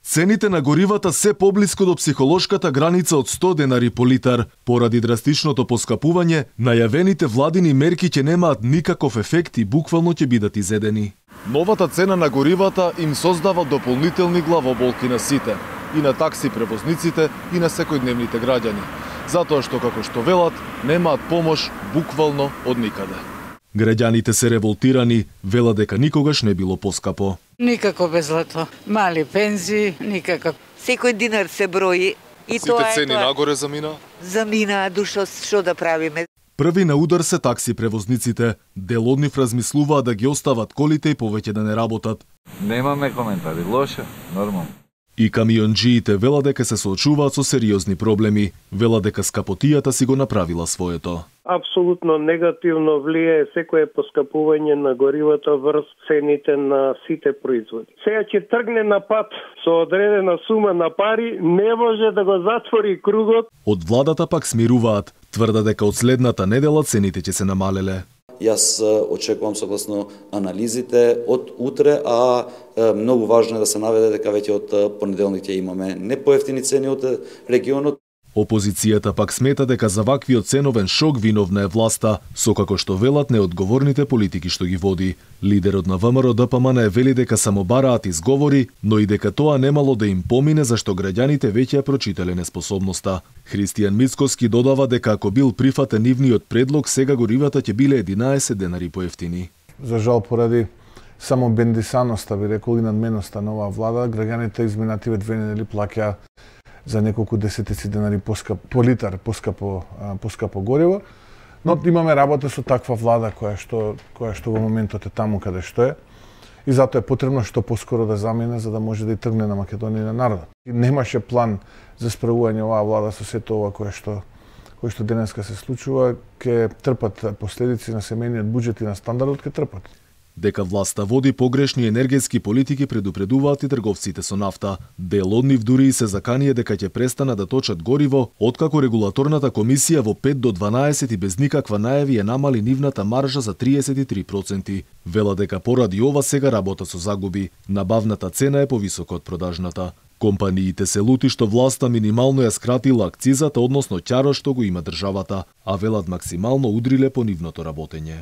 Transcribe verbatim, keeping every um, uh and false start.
Цените на горивата се поблиску до психолошката граница од сто денари по литар. Поради драстичното поскапување, најавените владини мерки ќе немаат никаков ефект и буквално ќе бидат изедени. Новата цена на горивата им создава дополнителни главоболки на сите, и на такси превозниците, и на секојдневните граѓани, затоа што, како што велат, немаат помош буквално од никаде. Граѓаните се револтирани, велат дека никогаш не било поскапо. Никако безлато. Мали пензии, никако. Секој динар се брои и Сите тоа е цени тоа. нагоре замина? Замина, душо, што да правиме? Први на удар се такси превозниците. Дел од нив размислуваат да ги остават колите и повеќе да не работат. Немаме коментари, лоше, нормално. И камионџиите велат дека се соочуваат со сериозни проблеми. Велат дека скапотијата си го направила своето. Апсолутно негативно влијае секое поскапување на горивата врз цените на сите производи. Сега ќе тргне на пат со одредена сума на пари, не може да го затвори кругот. Од владата пак смируваат, тврда дека од следната недела цените ќе се намалеле. Јас очекувам согласно анализите од утре, а многу важно е да се наведе дека веќе од понеделник ќе имаме не поевтини цени од регионот. Опозицијата пак смета дека за ваквиот ценовен шок виновна е власта, со како што велат неодговорните политики што ги води. Лидерот на ВМРО Д П М Н вели дека само бараат изговори, но и дека тоа немало да им помине зашто граѓаните веќе ја прочитале неспособноста. Христијан Мицкоски додава дека ако бил прифатен нивниот предлог, сега горивата ќе биле единаесет денари поевтини. За жал поради само бендисаноста, би рекол, и надменоста на оваа влада, граѓаните изминативе две недели плаќаа за неколку десетици денари поскап, по литар поскапо, поскапо гориво. Но имаме работа со таква влада која што, која што во моментот е таму каде што е. И затоа е потребно што поскоро да замине за да може да и тргне на Македонија и на народот. И немаше план за справување оваа влада со сето ова кое што кој што денеска се случува, ќе трпат последици на семејниот буџет и на стандардот, ќе трпат. Дека власта води погрешни енергетски политики предупредуваат и трговците со нафта. Дел од нив дури и се заканија дека ќе престана да точат гориво, откако регулаторната комисија во пет до дванаесет и без никаква најави е намали нивната маржа за триесет и три проценти. Вела дека поради ова сега работа со загуби. Набавната цена е повисока од продажната. Компаниите се лути што власта минимално ја скратила акцизата, односно ќарот што го има државата, а велат максимално удриле по нивното работење.